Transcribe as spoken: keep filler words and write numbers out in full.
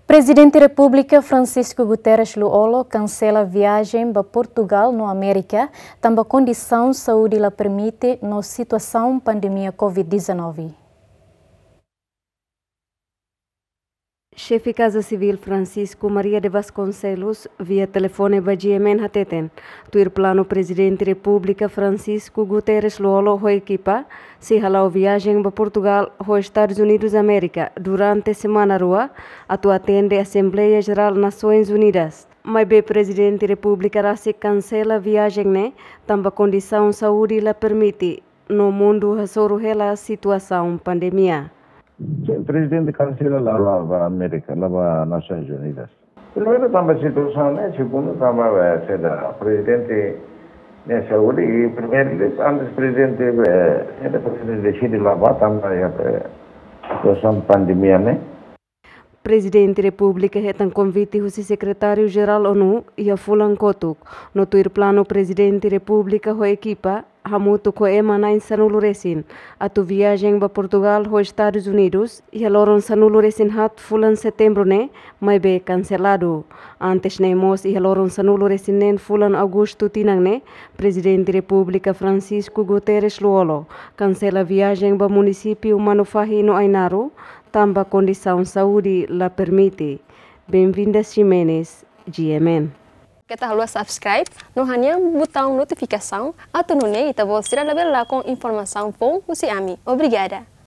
Prezidente Repúblika Francisco Guterres Lú-Olo kansela viajen ba Portugal no Amérika, tanba kondisaun saúde la permite no situasaun pandemia covid dezanove. Xefe Kaza Sivíl Francisco Maria de Vasconcelos, via telefone ba G M N hateten, tuir planu Prezidente Repúblika Francisco Guterres Lú-Olo ho ekipa, sei hala'o viajen ba Portugal ho Estadus Unidus Amérika durante semana rua, atu atende Asembleia Jerál Nasoins Unidas. Maibé Prezidente Repúblika rasik kansela viajen ne'e, tanba kondisaun saúde la permite, no mundu hasoru hela situasaun pandemia. Sin, prezidente kansela la ba, ba Amérika, la ba Nasoins Unidas. Primeiru tanba situasaun ne'e, segundu tanba, eh, seda, prezidente ne'e saúde, i primeiru, antes prezidente, eh, seda prezidente deside la ba tanba iha, eh, situasaun pandemia ne'e. Prezidente Repúblika hetan konvite husi Sekretáriu Jerál ONU iha fulan kotuk, no tuir planu Prezidente Repúblika ho ekipa, hamutuk ho ema na'in sanulu resin, atu viajen ba Portugal ho Estadus Unidus, iha loron sanulu resin haat fulan Setembru ne'e, maibé kanseladu. Antes ne'e mós iha loron sanulu resin neen fulan Agostu tinan ne'e, Prezidente Repúblika Francisco Guterres Lú-Olo kansela viajen ba munisípiu Manufahi no Ainaro, tanba kondisaun saúde la permite. Benvinda Ximenes, G M N. Keta haluha subscribe, no hanehan butaun notifikasaun, atu nune'e ita-boot sira labele lakon informasaun foun husi ami. Obrigada.